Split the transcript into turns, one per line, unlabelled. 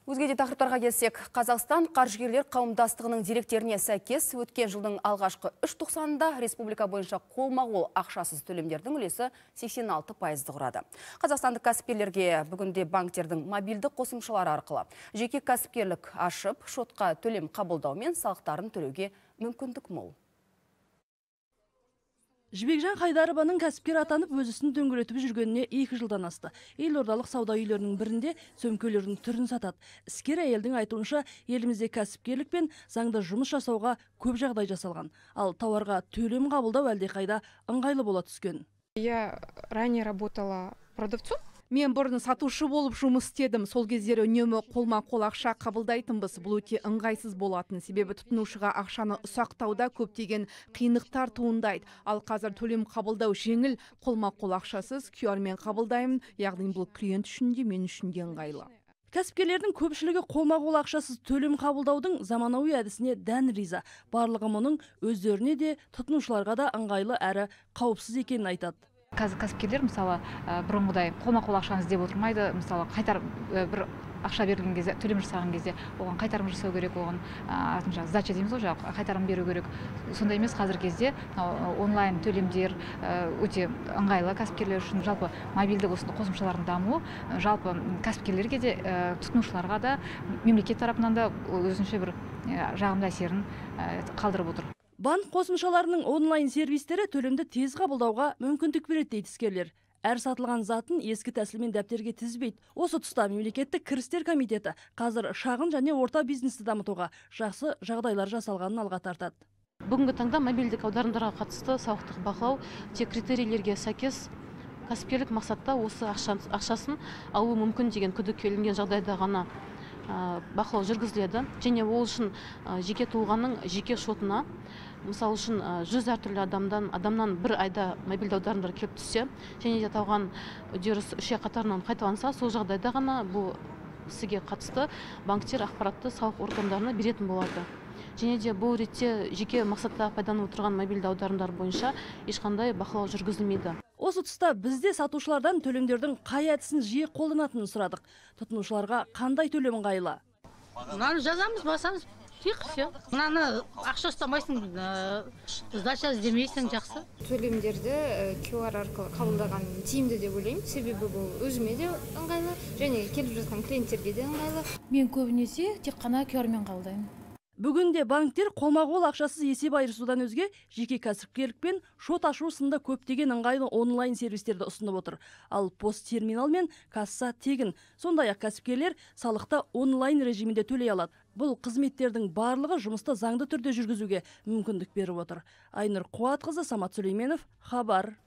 Өзге де тақырыптарға келсек, Қазақстан қаржыгерлер қауымдастығының деректеріне сәйкес өткен жылдың алғашқы 3 тоқсанында республика бойынша қолма-қол ақшасыз төлемдердің үлесі 86%-ды құрады. Қазақстандық кәсіпкерлерге бүгінде банктердің мобильді қосымшалары арқылы жеке кәсіпкерлік ашып, шотқа төлем қабылдаумен салықтарын төлеуге мүмкіндік мол.
Жібекжан Қайдарованың кәсіпкер атанып өз ісін дөңгелетіп жүргеніне 2 жылдан асты. Елордалық сауда үйлерінің бірінде сөмкелердің түрін сатады. Іскер әйелдің айтуынша, елімізде кәсіпкерлік пен заңда жұмыс жасауға көп жағдай жасалған. Ал тауарға төлем қабылдау әлдеқайда ыңғайлы бола түскен.
Я ранее работала продавцом.
Мен бұрын сатушы болып жұмыс істедім. Сол кездері үнемі қолма-қол ақша қабылдайтынбыз. Бұл өте ыңғайсыз болатын. Себебі тұтынушыға ақшаны ұсақтауда көптеген қиындықтар туындайды. Ал қазір төлем қабылдау жеңіл, қолма-қол ақшасыз QR-мен қабылдаймын. Яғни бұл клиент үшін де мен үшін де ыңғайлы.
Кәсіпкерлердің көпшілігі қолма-қол ақшасыз төлем қабылдаудың заманауи әдісіне дән риза. Барлығы мұның өздеріне де тұтынушыларға да ыңғайлы әрі қауіпсіз екенін айтады.
Қазір кәсіпкерлер мысалы бұрынғыдай қолма-қол ақшаны іздеп отырмайды. Мысалы қайтар бір ақша берілген кезде, төлем жасаған кезде оған қайтарым жасау керек, оған артынша сдача дейміз ғой, қайтарым беру керек. Сондай емес, қазір кезде онлайн төлемдер өте ыңғайлы кәсіпкерлер үшін. Жалпы мобильді қосымшалардың дамуы жалпы кәсіпкерлерге де, тұтынушыларға да, мемлекет тарапынан да өзінше бір жағымды әсерін қалдырып отыр.
Банк қосымшаларының онлайн сервистері төлемді тез қабылдауға мүмкіндік береді дейді іскерлер. Әр сатылған затын ескі тәсілмен дәптерге тізбейді. Осы тұста мемлекеттік кірістер комитеті қазір шағын және орта бизнесті дамытуға жақсы жағдайлар жасалғанын алға тартады.
Бүгінгі таңда мобильдік аударымдарға қатысты салықтық бақылау тек критерийлерге сәйкес кәсіпкерлік мақсатта осы ақшасын алу мүмкін деген күдікке ілінген жағдайда ғана бақылау жүргізіледі. Және ол үшін жеке тұлғаның жеке шотына, мысалы үшін 100 әртүрлі адамнан бір айда мобильді аударымдар келіп түссе, және де аталған үдеріс 3 ай қатарынан қайталанса, сол жағдайда ғана бұл ісіге қатысты банктер ақпаратты салық органдарына беретін болады. Және де бұл ретте жеке мақсатта пайдаланып отырған мобильді аударымдар бойынша ешқандай бақылау жүргізілмейді.
Осы тұста бізде сатушылардан төлемдердің қай әдісін жиі қолданатынын сұрадық. Тұтынушыларға қандай төлем ыңғайлы?
Мынаны жазамыз, басамыз, тек все. Мынаны ақша ұстамайсың, сдача іздемейсің, жақсы.
Төлемдерді QR арқылы қабылдаған тиімді деп ойлаймын. Себебі бұл өзіме де ыңғайлы, және келіп жатқан клиенттерге де ыңғайлы.
Мен көбінесе тек қана QR-мен қабылдаймын.
Бүгінде банктер қолма-қол ақшасыз есеп айырысудан өзге жеке кәсіпкерлік пен шот ашу сынды көптеген ыңғайлы онлайн сервистерді ұсынып отыр. Ал пост-терминал мен касса тегін. Сондай-ақ кәсіпкерлер салықты онлайн режимінде төлей алады. Бұл қызметтердің барлығы жұмысты заңды түрде жүргізуге мүмкіндік беріп отыр. Айнұр Қуатқызы, Самат Сүлейменов, Хабар.